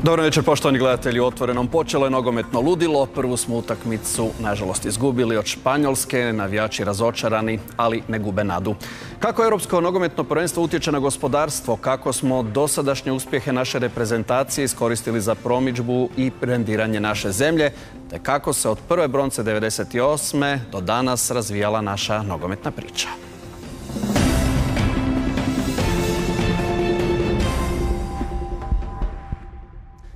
Dobro večer, poštovani gledatelji. U Otvorenom počelo je nogometno ludilo. Prvu smo utakmicu, nažalost, izgubili od Španjolske. Navijači razočarani, ali ne gube nadu. Kako Europsko nogometno prvenstvo utječe na gospodarstvo? Kako smo dosadašnje uspjehe naše reprezentacije iskoristili za promidžbu i brendiranje naše zemlje? Te kako se od prve bronce 98. do danas razvijala naša nogometna priča?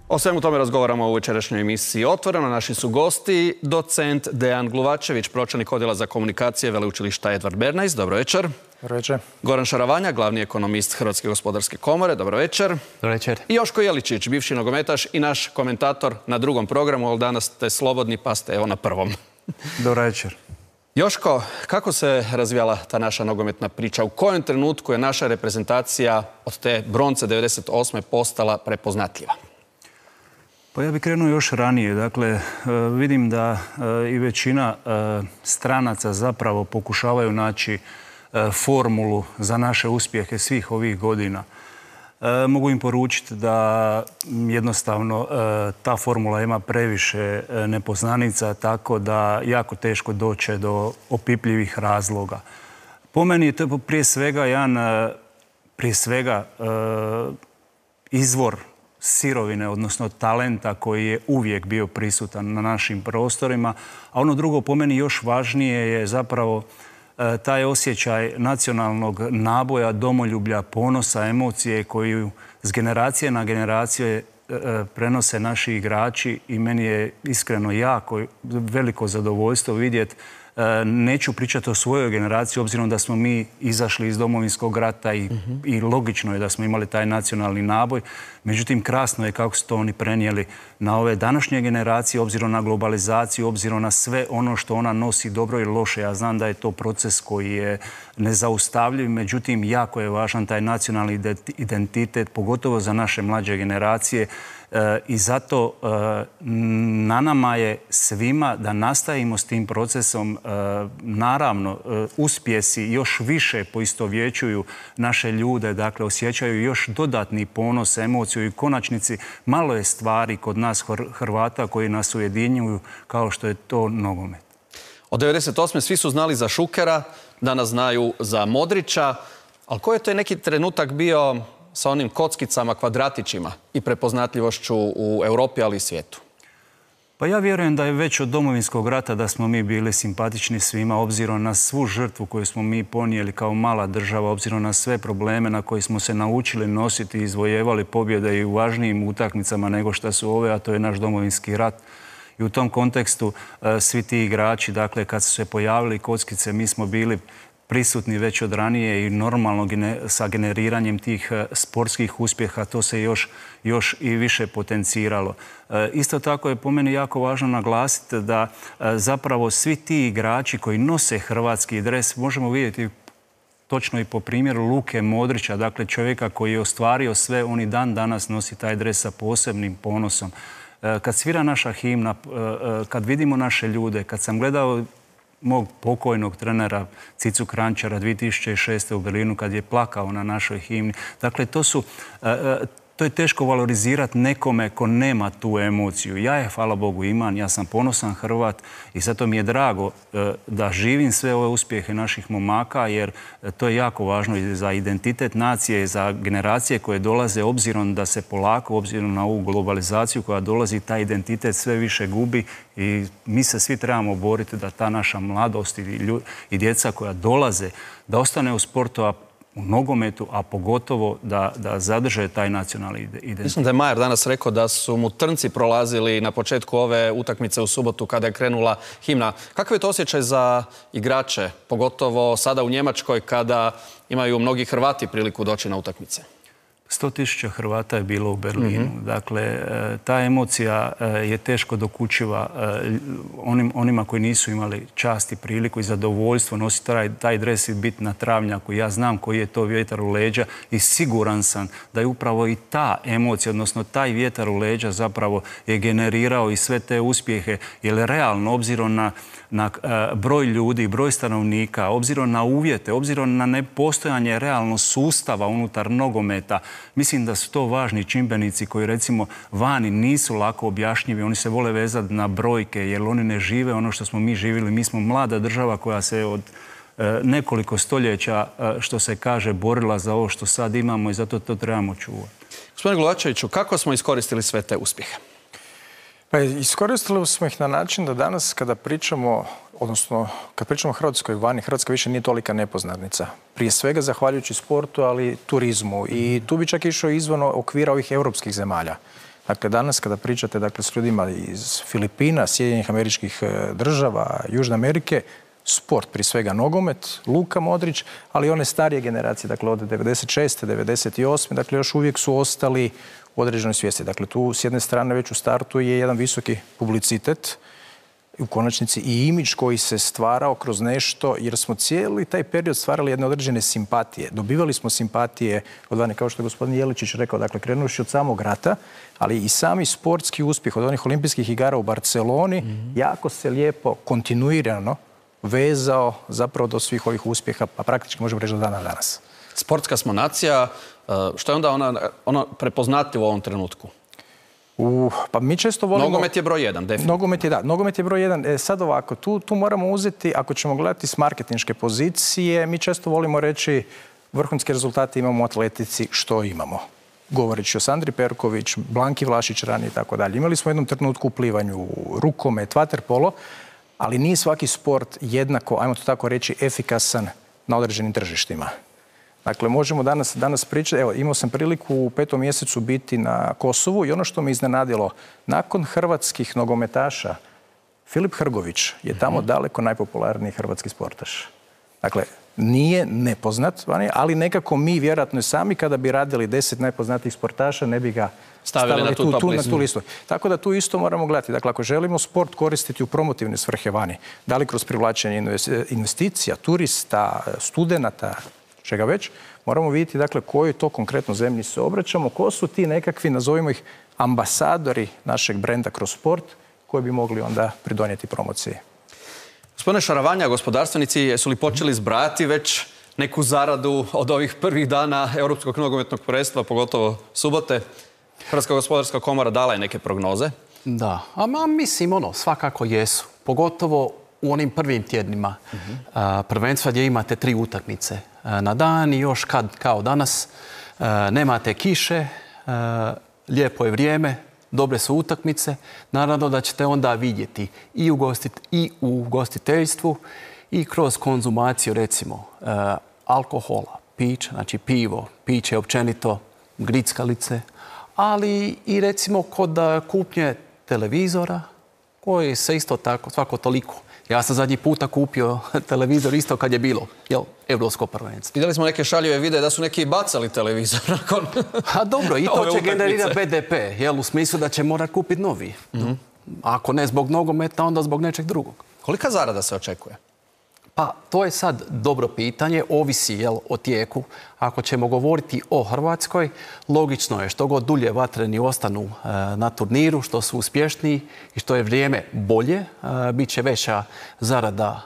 O svemu tome razgovaramo u večerašnjoj emisiji Otvoreno. Naši su gosti docent Dejan Gluvačević, pročelnik odjela za komunikacije Veleučilišta Edvard Bernays. Dobro večer. Dobro večer. Goran Šaravanja, glavni ekonomist Hrvatske gospodarske komore. Dobro večer. Dobro večer. I Joško Jeličić, bivši nogometaš i naš komentator na drugom programu, ali danas ste slobodni pa ste evo na prvom. Dobro večer. Joško, kako se razvijala ta naša nogometna priča? U kojem trenutku je naša reprezentacija od te bronce 98. postala prepoznatljiva? Pa ja bih krenuo još ranije. Dakle, vidim da i većina stranaca zapravo pokušavaju naći formulu za naše uspjehe svih ovih godina. Mogu im poručiti da jednostavno ta formula ima previše nepoznanica, tako da jako teško doće do opipljivih razloga. Po meni je to prije svega izvor sirovine, odnosno talenta koji je uvijek bio prisutan na našim prostorima. A ono drugo, po meni još važnije, je zapravo taj osjećaj nacionalnog naboja, domoljublja, ponosa, emocije koju s generacije na generacije prenose naši igrači i meni je iskreno jako veliko zadovoljstvo vidjeti. Neću pričati o svojoj generaciji, obzirom da smo mi izašli iz Domovinskog rata i logično je da smo imali taj nacionalni naboj. Međutim, krasno je kako su to oni prenijeli na ove današnje generacije, obzirom na globalizaciju, obzirom na sve ono što ona nosi, dobro i loše. Ja znam da je to proces koji je nezaustavljiv, međutim, jako je važan taj nacionalni identitet, pogotovo za naše mlađe generacije. I zato na nama je svima da nastavimo s tim procesom. Naravno, uspjesi još više poistovjećuju naše ljude, dakle osjećaju još dodatni ponos, emociju i konačnici malo je stvari kod nas Hrvata koji nas ujedinjuju kao što je to nogomet. Od 98. svi su znali za Šukera, danas znaju za Modrića, ali koji je to neki trenutak bio sa onim kockicama, kvadratićima i prepoznatljivošću u Europi, ali i svijetu? Pa ja vjerujem da je već od Domovinskog rata da smo mi bili simpatični svima, obzirom na svu žrtvu koju smo mi ponijeli kao mala država, obzirom na sve probleme na koje smo se naučili nositi i izvojevali pobjede i u važnijim utakmicama nego što su ove, a to je naš Domovinski rat. I u tom kontekstu svi ti igrači, dakle, kad su se pojavili kockice, mi smo bili prisutni već od ranije i normalno sa generiranjem tih sportskih uspjeha to se još i više potenciralo. Isto tako je po meni jako važno naglasiti da zapravo svi ti igrači koji nose hrvatski dres, možemo vidjeti točno i po primjeru Luke Modrića, dakle čovjeka koji je ostvario sve, on i dan danas nosi taj dres sa posebnim ponosom. Kad svira naša himna, kad vidimo naše ljude, kad sam gledao mog pokojnog trenera Cicu Kranjčara 2006. u Berlinu kad je plakao na našoj himni. Dakle, to je teško valorizirati nekome ko nema tu emociju. Ja je, hvala Bogu, imam, ja sam ponosan Hrvat i zato mi je drago da živim sve ove uspjehe naših momaka, jer to je jako važno i za identitet nacije i za generacije koje dolaze, obzirom da se polako, obzirom na ovu globalizaciju koja dolazi, taj identitet sve više gubi i mi se svi trebamo boriti da ta naša mladost i djeca koja dolaze, da ostane u sportu, u nogometu, a pogotovo da zadrže taj nacionalni identitet. Mislim da je Majer danas rekao da su mu trnci prolazili na početku ove utakmice u subotu kada je krenula himna. Kakav je to osjećaj za igrače, pogotovo sada u Njemačkoj kada imaju mnogi Hrvati priliku doći na utakmice? 100.000 Hrvata je bilo u Berlinu. Dakle, ta emocija je teško dokučiva onima koji nisu imali čast i priliku i zadovoljstvo nositi taj dres i biti na travnjaku. Ja znam koji je to vjetar u leđa i siguran sam da je upravo i ta emocija, odnosno taj vjetar u leđa zapravo je generirao i sve te uspjehe, jer realno, obzirom na broj ljudi, broj stanovnika, obzirom na uvjete, obzirom na nepostojanje realno sustava unutar nogometa, Mislim da su to važni čimbenici koji recimo vani nisu lako objašnjivi. Oni se vole vezati na brojke jer oni ne žive ono što smo mi živjeli. Mi smo mlada država koja se od nekoliko stoljeća, što se kaže, borila za ovo što sad imamo i zato to trebamo čuvati. Gospodine Glavačeviću, kako smo iskoristili sve te uspjehe? Pa iskoristili smo ih na način da danas kada pričamo, odnosno kad pričamo o Hrvatskoj vani, Hrvatska više nije tolika nepoznanica. Prije svega zahvaljujući sportu, ali turizmu. I tu bi čak išao izvan okvira ovih europskih zemalja. Dakle, danas kada pričate s ljudima iz Filipina, Sjedinjenih Američkih Država, Južne Amerike, sport, prije svega nogomet, Luka Modrić, ali i one starije generacije, dakle od 96. 98. dakle još uvijek su ostali u određenoj svijesti. Dakle, tu s jedne strane već u startu je jedan visoki publicitet, u konačnici i imidž koji se stvarao kroz nešto, jer smo cijeli taj period stvarali jedne određene simpatije. Dobivali smo simpatije od vani, kao što je gospodin Jeličić rekao, dakle, krenuši od samog rata, ali i sami sportski uspjeh od onih olimpijskih igara u Barceloni jako se lijepo, kontinuirano vezao zapravo do svih ovih uspjeha, pa praktički možemo reći do dana danas. Sportska smo nacija. Što je onda ono prepoznatljivo u ovom trenutku? Pa mi često volimo... Nogomet je broj 1, definitivno. Nogomet je broj 1. Sad ovako, tu moramo uzeti, ako ćemo gledati s marketinške pozicije, mi često volimo reći vrhunske rezultate imamo u atletici, što imamo. Govoreći o Sandri Perković, Blanki Vlašić ranije i tako dalje. Imali smo u jednom trenutku u plivanju, rukomet, vaterpolo, ali nije svaki sport jednako, ajmo to tako reći, efikasan na određenim tržištima. Dakle, možemo danas pričati, evo, imao sam priliku u 5. mjesecu biti na Kosovu i ono što me iznenadilo, nakon hrvatskih nogometaša, Filip Hrgović je tamo daleko najpopularniji hrvatski sportaš. Dakle, nije nepoznat, ali nekako mi vjerojatno sami kada bi radili 10 najpoznatijih sportaša ne bi ga stavili na tu listu. Tako da tu isto moramo gledati. Dakle, ako želimo sport koristiti u promotivne svrhe vani, da li kroz privlačenje investicija, turista, studenata, čega već, moramo vidjeti dakle kojoj to konkretno zemlji se obraćamo, ko su ti nekakvi, nazovimo ih, ambasadori našeg brenda kroz sport koji bi mogli onda pridonijeti promociji. Gospodine Šaravanja, gospodarstvenici, jesu li počeli zbrajati već neku zaradu od ovih prvih dana Europskog nogometnog prvenstva, pogotovo subote? Hrvatska gospodarska komora dala je neke prognoze. Da, mislim svakako jesu. Pogotovo u onim prvim tjednima prvenstva gdje imate 3 utakmice na dan i još kao danas nemate kiše, lijepo je vrijeme, dobre su utakmice. Naravno da ćete onda vidjeti i u ugostiteljstvu i kroz konzumaciju recimo alkohola, pića, znači pivo, piće općenito, grickalice, ali i recimo kod kupnje televizora koji se isto tako svako toliko. Ja sam zadnji puta kupio televizor isto kad je bilo Europsko prvenstvo. Vidjeli smo neke šaljive videe da su neki bacali televizor nakon... A dobro, i to će generirati BDP, u smislu da će morati kupiti novi. Ako ne zbog nogometa, onda zbog nečeg drugog. Kolika zarada se očekuje? Pa to je sad dobro pitanje, ovisi o tijeku. Ako ćemo govoriti o Hrvatskoj, logično je što god dulje vatreni ostanu na turniru, što su uspješniji i što je vrijeme bolje, bit će veća zarada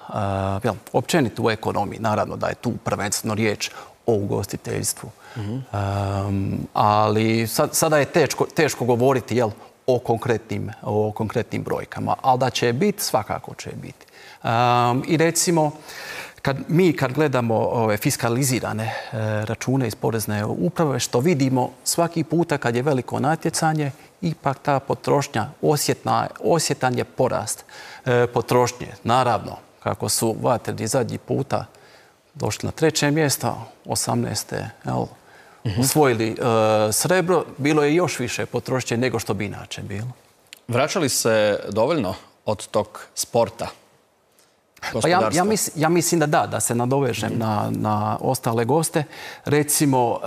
općenito u ekonomiji. Naravno da je tu prvenstveno riječ o ugostiteljstvu. Ali sada je teško govoriti o konkretnim brojkama, ali da će biti, svakako će biti. I recimo, kad gledamo ove fiskalizirane račune iz porezne uprave, što vidimo svaki puta kad je veliko natjecanje, ipak ta potrošnja, osjetan je porast potrošnje. Naravno, kako su vatreni zadnji puta došli na 3. mjesto, 18. osvojili srebro, bilo je još više potrošnje nego što bi inače bilo. Vraćali se dovoljno od tog sporta? Pa ja mislim da se nadovežem na ostale goste. Recimo,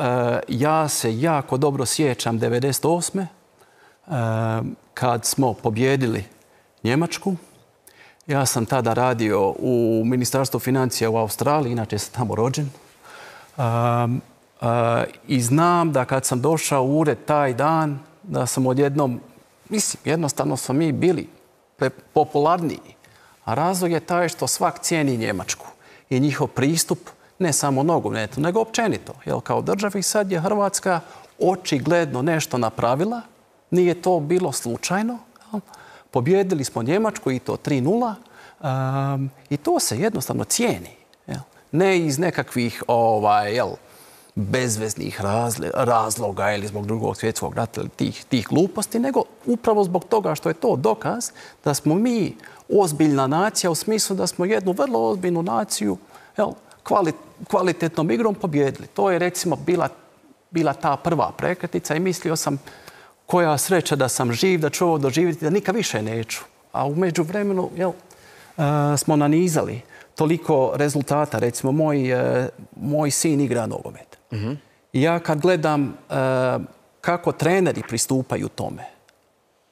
ja se jako dobro sjećam 98. Kad smo pobjedili Njemačku. Ja sam tada radio u Ministarstvu financija u Australiji, inače sam tamo rođen. I znam da kad sam došao u ured taj dan, da sam odjednom, jednostavno smo mi bili popularniji. A razlog je taj što svak cijeni Njemačku i njihov pristup ne samo nogometu, nego općenito. Kao državi sad je Hrvatska očigledno nešto napravila. Nije to bilo slučajno. Pobjedili smo Njemačku i to 3:0. I to se jednostavno cijeni. Ne iz nekakvih bezveznih razloga ili zbog Drugog svjetskog rata ili tih gluposti, nego upravo zbog toga što je to dokaz da smo mi ozbiljna nacija u smislu da smo jednu vrlo ozbiljnu naciju kvalitetnom igrom pobjedili. To je recimo bila ta prva prekretnica i mislio sam koja sreća da sam živ, da ću ovo doživjeti, da nikad više neću. A u međuvremenu smo nanizali toliko rezultata. Recimo, moj sin igra nogomet. I ja kad gledam kako treneri pristupaju tome,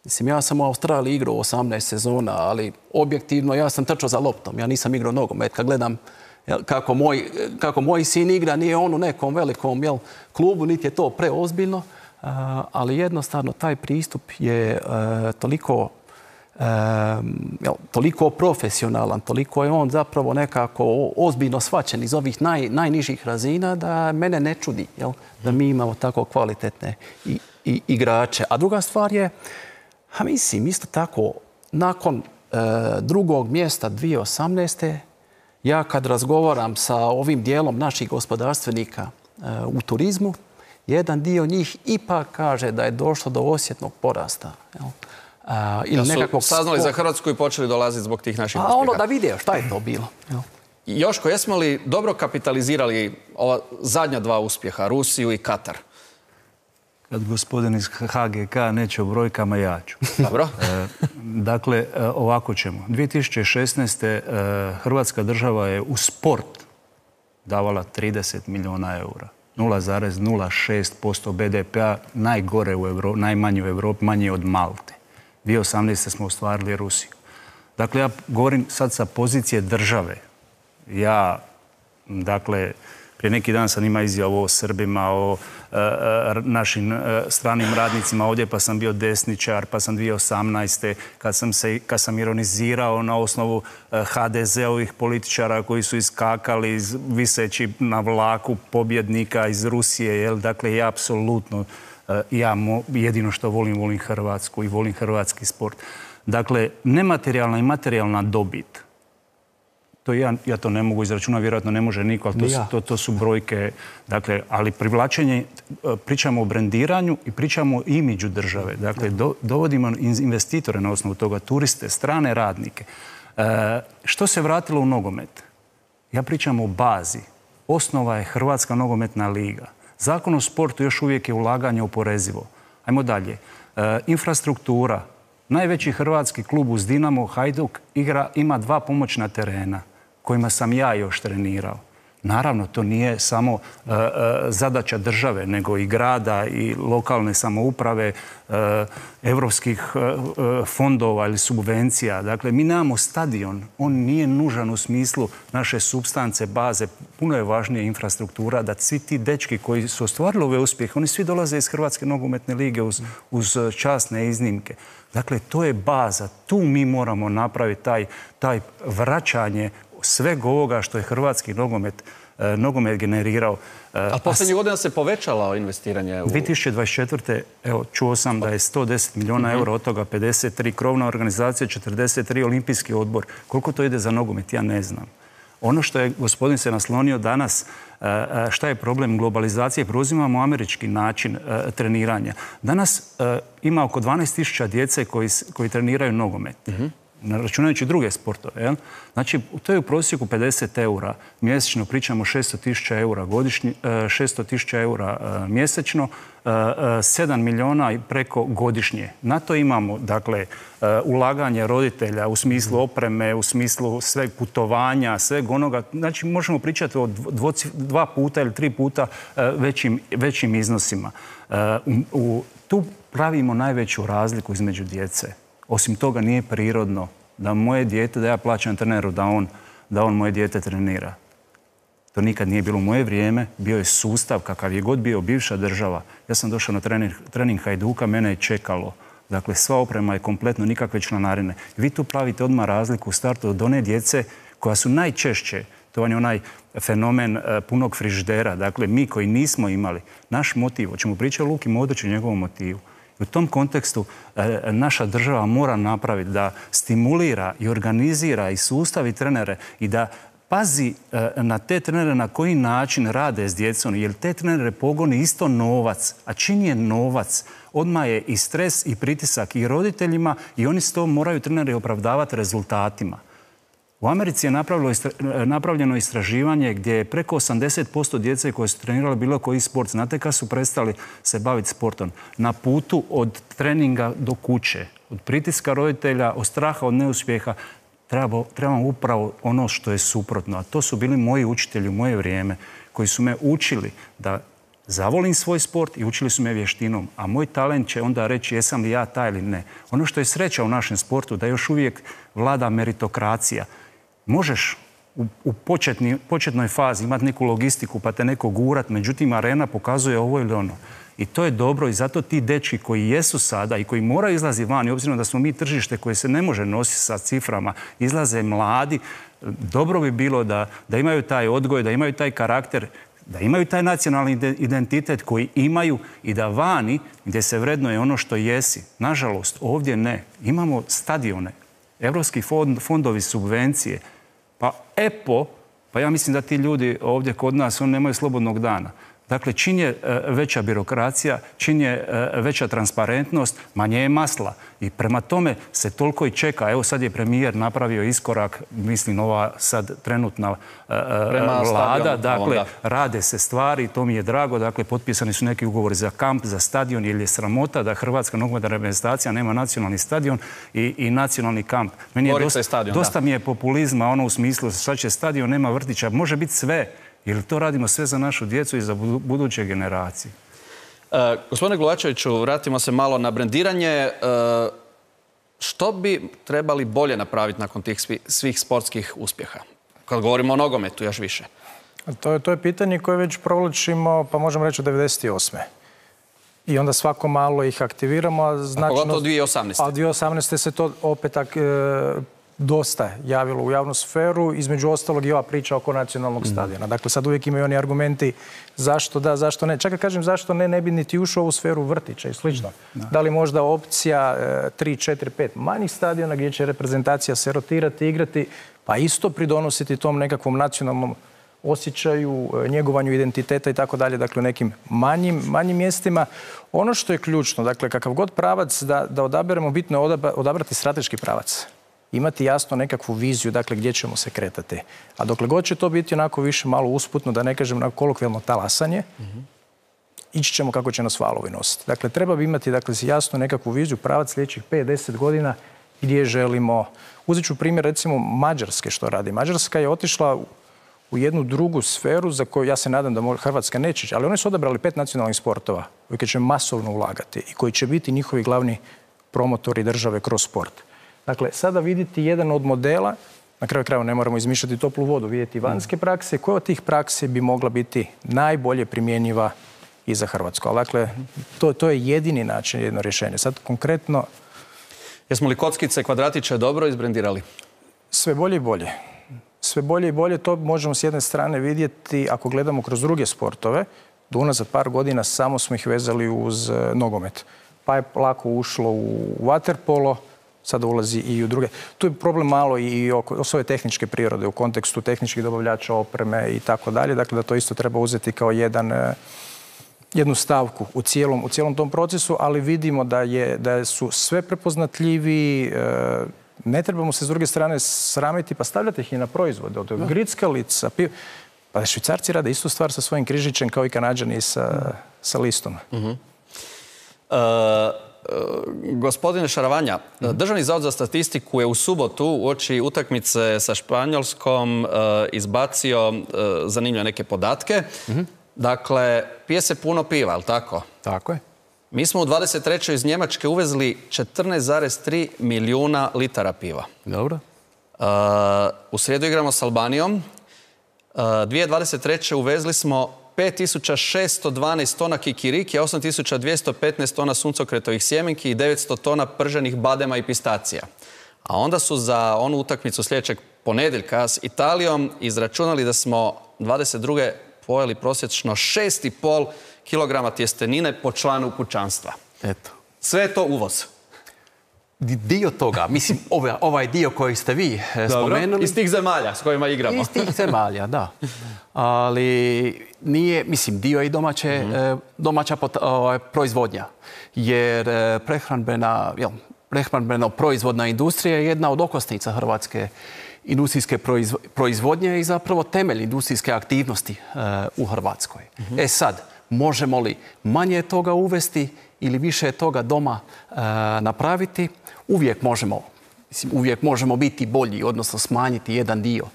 mislim, ja sam u Australiji igrao 18 sezona, ali objektivno ja sam trčao za loptom. Ja nisam igrao nogomet. Kad gledam kako moj sin igra, nije on u nekom velikom klubu, niti je to preozbiljno, ali jednostavno taj pristup je toliko profesionalan, toliko je on zapravo nekako ozbiljno shvaćen iz ovih najnižih razina da mene ne čudi da mi imamo tako kvalitetne igrače. A druga stvar je, mislim, isto tako, nakon drugog mjesta 2018. ja kad razgovaram sa ovim dijelom naših gospodarstvenika u turizmu, jedan dio njih ipak kaže da je došlo do osjetnog porasta. Su saznali za Hrvatsku i počeli dolaziti zbog tih naših uspjeha. Da vidje šta je to bilo. Joško, jesmo li dobro kapitalizirali ova zadnja dva uspjeha, Rusiju i Katar? Kad gospodin iz HGK neće o brojkama, ja ću. Dobro. Dakle, ovako ćemo. 2016. Hrvatska država je u sport davala 30 milijuna eura. 0,06% BDP-a, najgore u Evropi, najmanje u Evropi, manje od Malte. 2018. smo ostvarili Rusiju. Dakle, ja govorim sad sa pozicije države. Prije neki dan sam imao izjavu o Srbima, o našim stranim radnicima ovdje, pa sam bio desničar, pa sam 2018. kad sam ironizirao na osnovu HDZ-ovih političara koji su iskakali viseći na vlaku pobjednika iz Rusije. Dakle, ja apsolutno, jedino što volim Hrvatsku i volim hrvatski sport. Dakle, nematerijalna i materijalna dobit, to ja to ne mogu izračunati, vjerojatno ne može niko, ali to su brojke. Dakle, ali privlačenje, pričamo o brendiranju i pričamo o imidžu države. Dakle, dovodimo investitore na osnovu toga, turiste, strane radnike. Što se vratilo u nogomet? Ja pričam o bazi. Osnova je Hrvatska nogometna liga. Zakon o sportu još uvijek je ulaganje oporezivo. Ajmo dalje. Infrastruktura. Najveći hrvatski klub uz Dinamo, Hajduk, ima 2 pomoćna terena kojima sam ja još trenirao. Naravno, to nije samo zadaća države, nego i grada i lokalne samouprave, evropskih fondova ili subvencija. Dakle, mi nemamo stadion. On nije nužan u smislu naše supstance, baze. Puno je važnija infrastruktura da svi ti dečki koji su ostvarili ove uspjehe, oni svi dolaze iz Hrvatske nogometne lige uz časne iznimke. Dakle, to je baza. Tu mi moramo napraviti taj vraćanje sveg ovoga što je hrvatski nogomet generirao. A posljednjih godina se povećalo investiranje u... 2024. Evo, čuo sam da je 110 milijuna eura, od toga 53 krovna organizacija, 43 olimpijski odbor. Koliko to ide za nogomet, ja ne znam. Ono što je gospodin se naslonio danas, šta je problem globalizacije, preuzimamo američki način treniranja. Danas ima oko 12.000 djece koji treniraju nogomet. Računajući druge sportove. Znači, to je u prosjeku 50 eura mjesečno, pričamo 600.000 eura godišnje, 600.000 eura mjesečno, 7 milijuna i preko godišnje. Na to imamo, dakle, ulaganje roditelja u smislu opreme, u smislu sveg putovanja, sveg onoga. Znači, možemo pričati o 2 puta ili 3 puta većim iznosima. Tu pravimo najveću razliku između djece. Osim toga, nije prirodno da moje dijete, da ja plaćam treneru da on moje dijete trenira. To nikad nije bilo u moje vrijeme. Bio je sustav, kakav je god bio bivša država. Ja sam došao na trening Hajduka, mene je čekalo. Dakle, sva oprema je kompletno, nikakve članarine. Vi tu pravite odmah razliku u startu od one djece koja su najčešće To vam je onaj fenomen punog frižidera. Dakle, mi koji nismo imali naš motiv, hoćemo pričati o Luki Modriću i njegovom motivu. U tom kontekstu naša država mora napraviti da stimulira i organizira i sustavi trenere i da pazi na te trenere na koji način rade s djecom, jer te trenere pogoni isto novac. A čim je novac, odmah je i stres i pritisak i roditeljima i oni s to moraju treneri opravdavati rezultatima. U Americi je napravljeno istraživanje gdje je preko 80% djece koje su trenirali bilo koji sport, znate kad su prestali se baviti sportom, na putu od treninga do kuće, od pritiska roditelja, od straha, od neuspjeha, trebamo upravo ono što je suprotno. A to su bili moji učitelji u moje vrijeme koji su me učili da zavolim svoj sport i učili su me vještinom. A moj talent će onda reći jesam li ja taj ili ne. Ono što je sreća u našem sportu da još uvijek vlada meritokracija. Možeš u početnoj fazi imati neku logistiku pa te neko gurat, međutim arena pokazuje ovo ili ono. I to je dobro i zato ti dečki koji jesu sada i koji moraju izlazi van, i obzirom da smo mi tržište koje se ne može nositi sa ciframa, izlaze mladi, dobro bi bilo da imaju taj odgoj, da imaju taj karakter, da imaju taj nacionalni identitet koji imaju i da vani gdje se vrednuje ono što jesi. Nažalost, ovdje ne. Imamo stadione, evropski fondovi, subvencije, pa EPO, pa ja mislim da ti ljudi ovdje kod nas, oni nemaju slobodnog dana. Dakle, čim je veća birokracija, čim je veća transparentnost, manje je masla. I prema tome se toliko i čeka. Evo sad je premijer napravio iskorak, mislim ova sad trenutna vlada. Dakle, rade se stvari, to mi je drago. Dakle, potpisani su neki ugovori za kamp, za stadion, jer je sramota da Hrvatska nogometna reprezentacija nema nacionalni stadion i nacionalni kamp. Meni je dosta mi je populizma, ono u smislu sad će stadion, nema vrtića, može biti sve. Jer to radimo sve za našu djecu i za buduće generacije. Gospodine Glavačeviću, vratimo se malo na brendiranje. Što bi trebali bolje napraviti nakon tih svih sportskih uspjeha? Kad govorimo o nogometu, još više. To je pitanje koje već provlačimo, pa možemo reći od 1998. I onda svako malo ih aktiviramo. A pogotovo 2018. A 2018. se to opet dosta javilo u javnu sferu, između ostalog i ova priča oko nacionalnog stadiona. Dakle, sad uvijek imaju oni argumenti zašto da, zašto ne. Čak kad kažem zašto ne, ne bi niti ušao u sferu vrtića i slično. Da li možda opcija 3, 4, 5 manjih stadiona gdje će reprezentacija se rotirati, igrati, pa isto pridonositi tom nekakvom nacionalnom osjećaju, njegovanju identiteta i tako dalje, dakle u nekim manjim mjestima. Ono što je ključno, dakle kakav god pravac da odaberemo, bitno je odabrati strateški pravac. Imati jasno nekakvu viziju, dakle, gdje ćemo se kretati. A dokle god će to biti onako više malo usputno, da ne kažem onako kolokvijalno talasanje, ići ćemo kako će nas valovi nositi. Dakle, treba bi imati jasno nekakvu viziju, pravac sljedećih 5-10 godina gdje želimo. Uzet ću primjer recimo Mađarske što radi. Mađarska je otišla u jednu drugu sferu za koju ja se nadam da Hrvatska neće ići, ali oni su odabrali 5 nacionalnih sportova koji će masovno ulagati i koji će biti njihovi glavni promotori države kroz sport. Dakle, sada vidjeti jedan od modela, na kraju krajeva ne moramo izmišljati toplu vodu, vidjeti vanjske prakse, koja od tih praksi bi mogla biti najbolje primjenjiva i za Hrvatsku. Ali dakle, to je jedini način, jedno rješenje. Sad konkretno... Jesmo li kockice, kvadratiće dobro izbrendirali? Sve bolje i bolje. Sve bolje i bolje, to možemo s jedne strane vidjeti ako gledamo kroz druge sportove, da unazad par godina samo smo ih vezali uz nogomet. Pa je lako ušlo u vaterpolo, sada ulazi i u druge. Tu je problem malo i oko svoje tehničke prirode u kontekstu tehničkih dobavljača opreme i tako dalje. Dakle, da to isto treba uzeti kao jednu stavku u cijelom tom procesu, ali vidimo da su sve prepoznatljiviji. Ne trebamo se s druge strane sramiti pa stavljati ih i na proizvode. Od grickalica, pa Švicarci rade istu stvar sa svojim križićem kao i Kanađani sa listom. Gospodine Šaravanja, Državni zavod za statistiku je u subotu uoči utakmice sa Španjolskom izbacio zanimljive neke podatke. Dakle, pije se puno piva, ali tako? Tako je. Mi smo u 23. iz Njemačke uvezli 14,3 milijuna litara piva. Dobro. U srijedu igramo s Albanijom. 2023. uvezli smo 5612 tona kikiriki, 8215 tona suncokretovih sjemenki i 900 tona prženih badema i pistacija. A onda su za onu utakmicu sljedećeg ponedjeljka s Italijom izračunali da smo 22. pojeli prosječno 6,5 kilograma tjestenine po članu kućanstva. Eto. Sve je to uvoz. Dio toga, mislim, ovaj dio koji ste vi spomenuli... Iz tih zemalja s kojima igramo. Iz tih zemalja, da. Ali nije, mislim, dio je i domaća proizvodnja. Jer prehrambeno-proizvodna industrija je jedna od okosnica hrvatske industrijske proizvodnje i zapravo temelj industrijske aktivnosti u Hrvatskoj. Sad, možemo li manje toga uvesti ili više toga doma napraviti? Uvijek možemo biti bolji, odnosno smanjiti jedan dio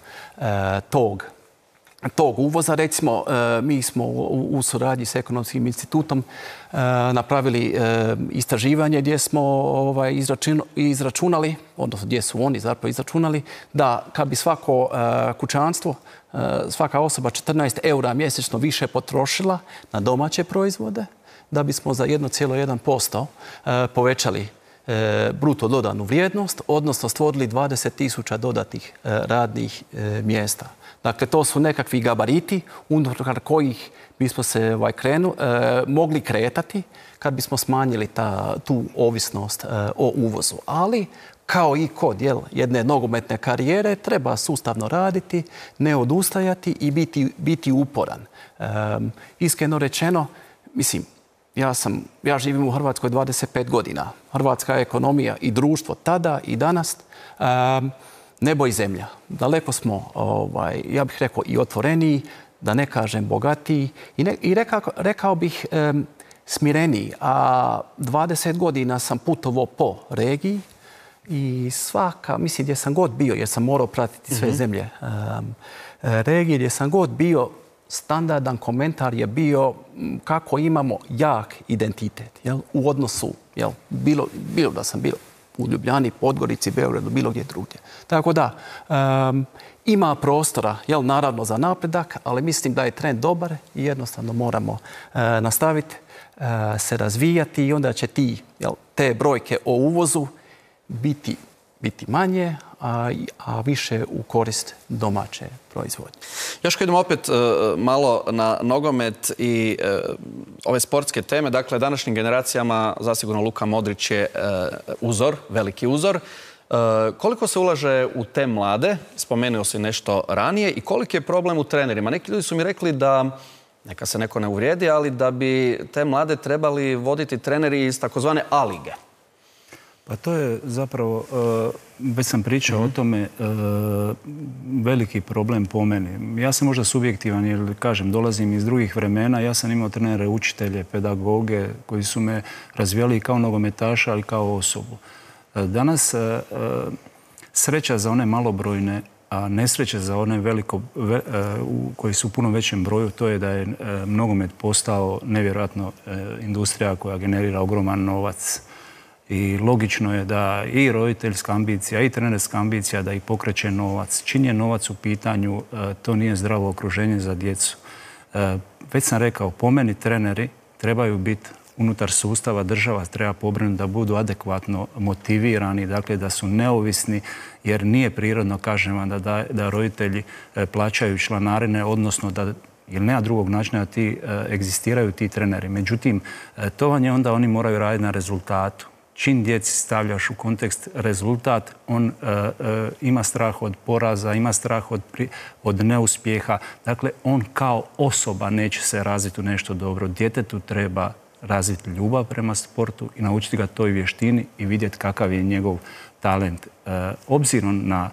tog uvoza. Recimo, mi smo u suradnji s Ekonomskim institutom napravili istraživanje gdje smo izračunali, odnosno gdje su oni zapravo izračunali, da kad bi svako kućanstvo, svaka osoba 14 eura mjesečno više potrošila na domaće proizvode, da bismo za 1,1% povećali bruto dodanu vrijednost, odnosno stvorili 20.000 dodatnih radnih mjesta. Dakle, to su nekakvi gabariti unutar kojih bismo se mogli kretati kad bismo smanjili tu ovisnost o uvozu. Ali, kao i kod jedne nogometne karijere, treba sustavno raditi, ne odustajati i biti uporan. Iskreno rečeno, mislim, ja živim u Hrvatskoj 25 godina. Hrvatska ekonomija i društvo tada i danas nebo i zemlja. Daleko smo, ja bih rekao, i otvoreniji, da ne kažem bogatiji i rekao bih smireniji. A 20 godina sam putovao po regiji i mislim gdje sam god bio, jer sam morao pratiti sve zemlje regije, gdje sam god bio, standardan komentar je bio kako imamo jak identitet u odnosu, bilo da sam bio u Ljubljani, Podgorici, Beogradu, bilo gdje drugdje. Tako da, ima prostora, naravno, za napredak, ali mislim da je trend dobar i jednostavno moramo nastaviti se razvijati i onda će te brojke o uvozu biti manje, a više u korist domaće proizvodnje. Još kad idemo opet malo na nogomet i ove sportske teme, dakle, današnjim generacijama zasigurno Luka Modrić je uzor, veliki uzor. Koliko se ulaže u te mlade, spomenuo si nešto ranije, i koliki je problem u trenerima? Neki ljudi su mi rekli da, neka se neko ne uvrijedi, ali da bi te mlade trebali voditi treneri iz takozvane A lige. Pa to je zapravo, već sam pričao o tome, veliki problem po meni. Ja sam možda subjektivan jer, kažem, dolazim iz drugih vremena. Ja sam imao trenere, učitelje, pedagoge koji su me razvijali kao nogometaša, ali kao osobu. Danas sreća za one malobrojne, a nesreća za one koji su u puno većem broju, to je da je nogomet postao nevjerojatno industrija koja generira ogroman novac. I logično je da i roditeljska ambicija i trenerska ambicija da ih pokreće novac. Čim je novac u pitanju, to nije zdravo okruženje za djecu. Već sam rekao, po meni treneri trebaju biti unutar sustava, država treba pobrinuti da budu adekvatno motivirani, dakle da su neovisni, jer nije prirodno, kažem vam, da roditelji plaćaju članarine, odnosno da, jer nema drugog načina da egzistiraju ti treneri. Međutim, to vam je onda, oni moraju raditi na rezultatu. Čim djeci stavljaš u kontekst rezultat, on ima strah od poraza, ima strah od neuspjeha. Dakle, on kao osoba neće se razviti u nešto dobro. Djetetu treba razviti ljubav prema sportu i naučiti ga toj vještini i vidjeti kakav je njegov talent. Obzirom na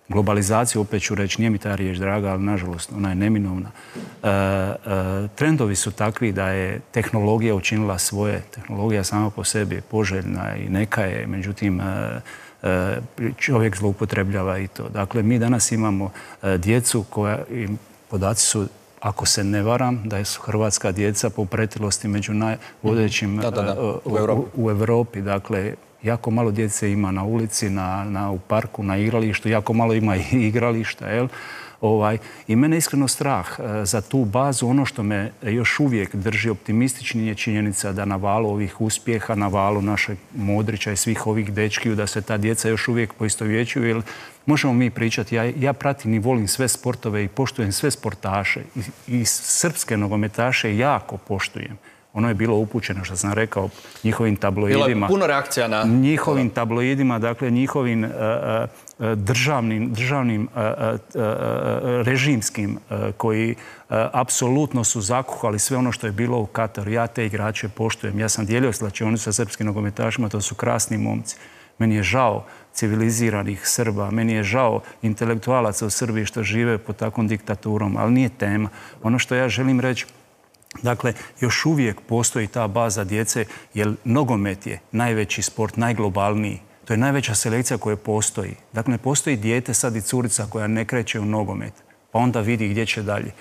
globalizaciju, opet ću reći, nije mi ta riječ draga, ali nažalost ona je neminovna. Trendovi su takvi da je tehnologija učinila svoje. Tehnologija sama po sebi je poželjna i neka je, međutim čovjek zloupotrebljava i to. Dakle, mi danas imamo djecu koja, podaci su, ako se ne varam, da su hrvatska djeca po pretilosti među najvodećim u Europi. Dakle, jako malo djece ima na ulici, u parku, na igralištu, jako malo ima i igrališta, I mene iskreno strah za tu bazu. Ono što me još uvijek drži optimistični je činjenica da na valu ovih uspjeha, na valu našeg Modrića i svih ovih dečkiju, da se ta djeca još uvijek poistovjećuju. Jer možemo mi pričati, ja pratim i volim sve sportove i poštujem sve sportaše. I srpske nogometaše jako poštujem. Ono je bilo upućeno, što sam rekao, njihovim tabloidima. Bilo je puno reakcija na... Njihovim tabloidima, dakle njihovim državnim režimskim koji apsolutno su zakuhali sve ono što je bilo u Kataru. Ja te igrače poštujem. Ja sam dijelio slačionicu sa srpskim nogometašima, to su krasni momci. Meni je žao civiliziranih Srba, meni je žao intelektualaca u Srbiji što žive pod takvom diktaturom, ali nije tema. Ono što ja želim reći, dakle, još uvijek postoji ta baza djece, jer nogomet je najveći sport, najglobalniji. To je najveća selekcija koja postoji. Dakle, ne postoji dijete sad i curica koja ne kreće u nogomet, pa onda vidi gdje će dalje.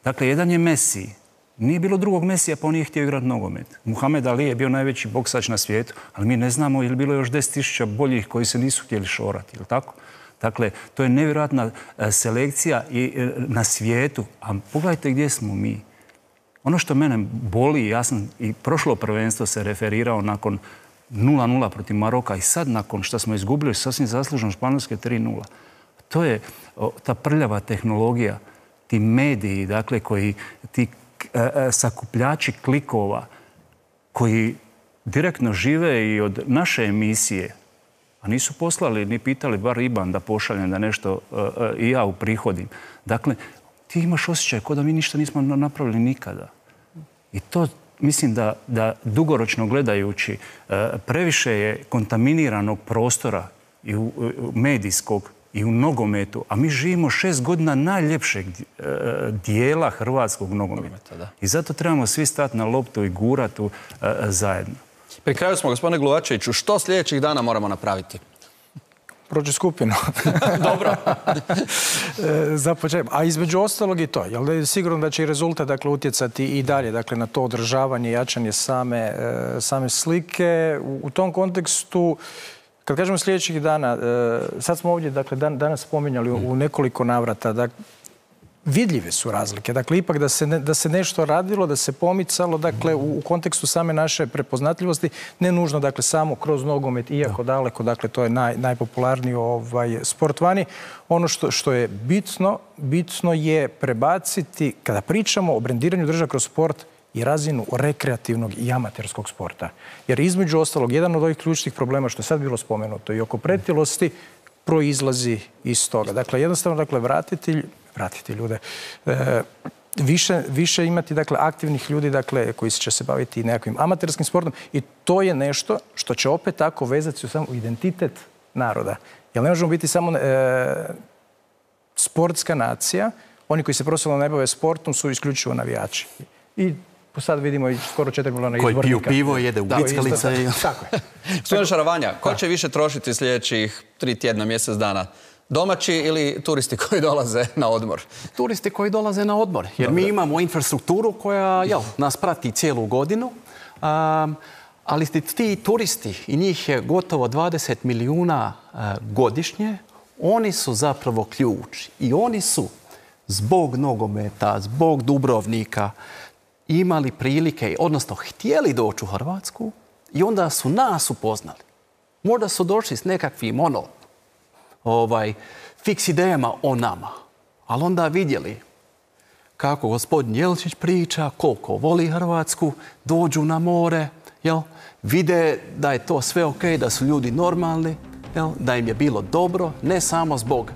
Dakle, jedan je Messi. Nije bilo drugog Mesija, pa on nije htio igrati nogomet. Muhammed Ali je bio najveći boksač na svijetu, ali mi ne znamo je li bilo još 10.000 boljih koji se nisu htjeli šorati, ili tako? Dakle, to je nevjerojatna selekcija na svijetu. A pogledajte gdje smo mi. Ono što mene boli, ja sam i prošlo prvenstvo se referirao nakon 0-0 protiv Maroka i sad nakon što smo izgubili sasvim zasluženo Španjolske 3-0. To je ta prljava tehnologija, ti mediji, dakle, ti sakupljači klikova koji direktno žive i od naše emisije, a nisu poslali ni pitali bar IBAN da pošaljem da nešto i ja uprihodim. Dakle, ti imaš osjećaj kao da mi ništa nismo napravili nikada. I to mislim da dugoročno gledajući previše je kontaminiranog prostora i medijskog i u nogometu, a mi živimo 6 godina najljepšeg dijela hrvatskog nogometa. I zato trebamo svi stati na loptu i gurati zajedno. Pri kraju smo, gospodine Gluvačeviću, što sljedećih dana moramo napraviti? Prođe skupinu. Dobro. Za početak. A između ostalog i to. Jel sigurno da će i rezultat utjecati i dalje na to održavanje, jačanje same slike. U tom kontekstu, kad kažemo sljedećih dana, sad smo ovdje danas spominjali u nekoliko navrata, vidljive su razlike. Dakle, ipak da se nešto radilo, da se pomicalo, dakle, u kontekstu same naše prepoznatljivosti, ne nužno, dakle, samo kroz nogomet, iako daleko, dakle, to je najpopularniji sport vani. Ono što je bitno je prebaciti, kada pričamo o brendiranju države kroz sport, i razinu rekreativnog i amaterskog sporta. Jer između ostalog, jedan od ovih ključnih problema, što je sad bilo spomenuto, i oko pretilosti, proizlazi iz toga. Dakle, jednostavno, vratiti ljude, više imati aktivnih ljudi koji će se baviti nekakvim amaterskim sportom i to je nešto što će opet tako vezati u identitet naroda. Jer ne možemo biti samo sportska nacija, oni koji se profesionalno ne bave sportom su isključivo navijači. I sad vidimo i skoro 4 milijuna izbornika. Koji piju pivo, jede u bickalice. Tako je. Gospodine Šaravanja, ko će više trošiti sljedećih 3 tjedna, mjesec dana? Domaći ili turisti koji dolaze na odmor? Turisti koji dolaze na odmor. Jer mi imamo infrastrukturu koja nas prati cijelu godinu. Ali ti turisti, i njih je gotovo 20 milijuna godišnje, oni su zapravo ključ. I oni su zbog nogometa, zbog Dubrovnika imali prilike, odnosno htjeli doći u Hrvatsku i onda su nas upoznali. Možda su došli s nekakvim fiks idejama o nama. Ali onda vidjeli kako gospodin Jelčić priča, koliko voli Hrvatsku, dođu na more, vide da je to sve ok, da su ljudi normalni, da im je bilo dobro, ne samo zbog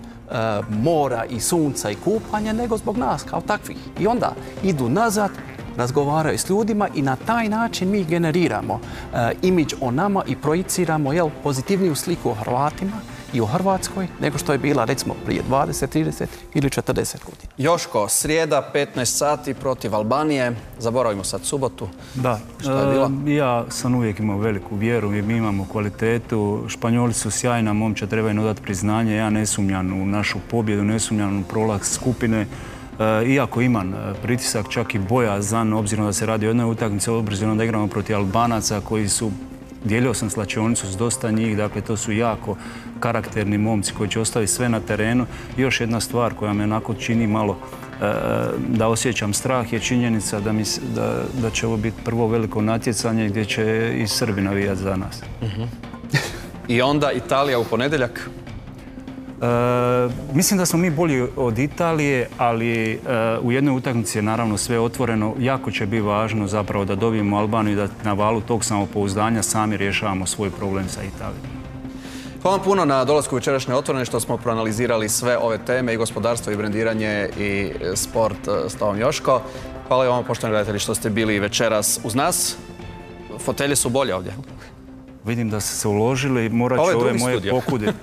mora i sunca i kupanja, nego zbog nas kao takvih. I onda idu nazad, razgovaraju s ljudima i na taj način mi generiramo imidž o nama i projiciramo pozitivniju sliku o Hrvatima i o Hrvatskoj nego što je bila recimo prije 20, 30 ili 40 godina. Joško, srijeda 15 sati protiv Albanije. Zaboravimo sad subotu. Da, ja sam uvijek imao veliku vjeru i mi imamo kvalitetu. Španjoli su sjajna momča, treba im odati priznanje. Ja ne sumnjam u našu pobjedu, ne sumnjam u prolaz skupine. Iako imam pritisak, čak i bojazan, obzirom da se radi o jednoj utakmici, obzirom da igramo protiv Albanaca koji su Dijelio sam slačionicu s dosta njih, dakle to su jako karakterni momci koji će ostaviti sve na terenu. I još jedna stvar koja me onako čini malo da osjećam strah je činjenica da će ovo biti prvo veliko natjecanje gdje će i Srbi navijati za nas. I onda Italija u ponedjeljak? Mislim da smo mi bolji od Italije, ali u jednoj utakmici je naravno sve otvoreno. Jako će biti važno zapravo da dobijemo Albaniju i da na valu tog samopouzdanja sami rješavamo svoj problem sa Italijom. Hvala vam puno na dolasku večerašnje Otvorene što smo proanalizirali sve ove teme i gospodarstvo i brendiranje i sport s tobom Joško. Hvala i vama poštovani gledatelji što ste bili večeras uz nas. Fotelje su bolje ovdje. Vidim da ste se uložili, morat ću ove moje pokuditi.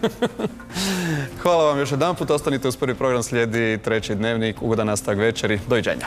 Hvala vam još jedan put, ostanite uz prvi program, slijedi treći dnevnik, ugodan nastavak večeri, doviđenja.